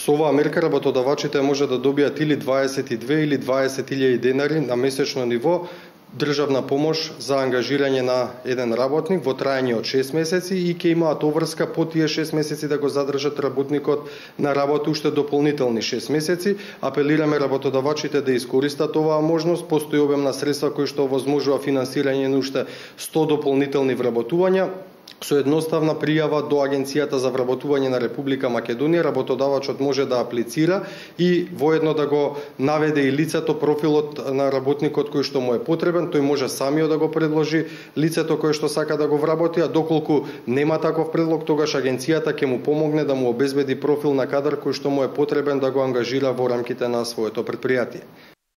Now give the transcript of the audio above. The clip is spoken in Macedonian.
Со оваа мерка работодавачите може да добијат или 22 или 20.000 денари на месечно ниво државна помош за ангажирање на еден работник во трајање од 6 месеци и ќе имаат обврска по тие 6 месеци да го задржат работникот на работа уште дополнителни 6 месеци. Апелираме работодавачите да искористат оваа можност. Постои обем на средства кои што овозможува финансирање на уште 100 дополнителни вработувања. Со едноставна пријава до Агенцијата за вработување на Република Македонија, работодавачот може да аплицира и воедно да го наведе и лицето, профилот на работникот кој што му е потребен. Тој може самиот да го предложи лицето кое што сака да го вработи, а доколку нема таков предлог, тогаш Агенцијата ќе му помогне да му обезбеди профил на кадар кој што му е потребен да го ангажира во рамките на своето претпријатие.